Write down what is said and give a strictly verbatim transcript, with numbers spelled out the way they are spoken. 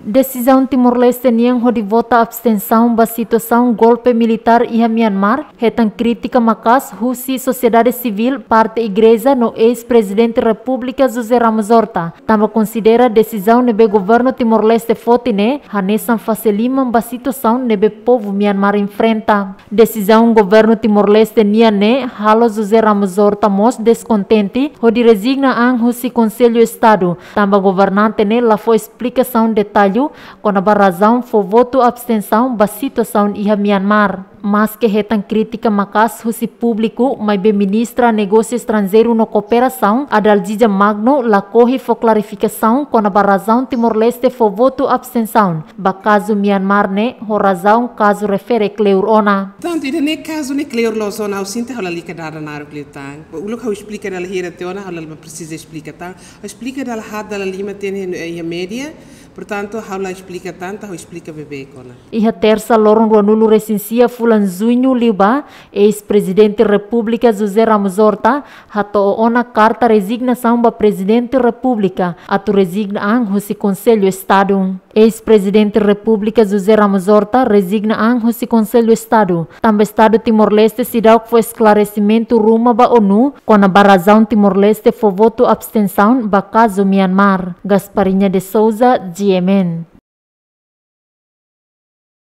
Desizaun Timor-Leste nian hodi vota abstensaun ba situasaun golpe militár iha Myanmar hetan krítika maka'as husi sosiedade sivíl, parte igreja no eis-Prezidente Repúblika José Ramos Horta, tanba konsidera desizaun ne'ebé governu Timor-Leste foti ne'e hanesan fase liman ba situasaun ne'ebé povu Myanmar enfrenta. Desizaun governu Timor-Leste nian ne'e halo José Ramos Horta mós deskontente hodi rezigna an husi Konsellu Estadu, tanba governante ne'e la fó esplikasaun detallu kona-ba razaun fó votu abstensaun ba situasaun iha Myanmar. Maske hetan krítika maka'as husi públiku, maibé Ministra Negósiu Estranjeiru no Kooperasaun, Adalgisa Magno, lakohi fó klarifikasaun kona-ba razaun Timor-Leste fó votu abstensaun ba kazu Myanmar ne'e, ho razaun kazu refere kleur ona. Tantu ida-ne'e kazu ne'e kleur loos ona, ha'u sente ha'u lalika dada naruk liután. Uluk ha'u esplika dala hira tiha ona, ha'u la presiza esplika tan. Ha'u esplika dala haat dala lima tiha ona iha média, portantu ha'u la esplika tan, ha'u esplika beibeik ona. Iha Tersa loron ruanulu-resin-sia fulan Juñu liubá, eis-Prezidente Repúblika José Ramos Horta hato'o ona karta rezignasaun ba Prezidente Repúblika atu rezigna an husi Konsellu Estadu. Eis-Prezidente Repúblika José Ramos Horta rezigna an husi Konsellu Estadu, tanba Estadu Timor-Leste seidauk fó esklaresimentu ruma ba ONU kona-ba razaun Timor-Leste fó votu abstensaun ba kazu Myanmar. Gasparinha de Souza, G M N.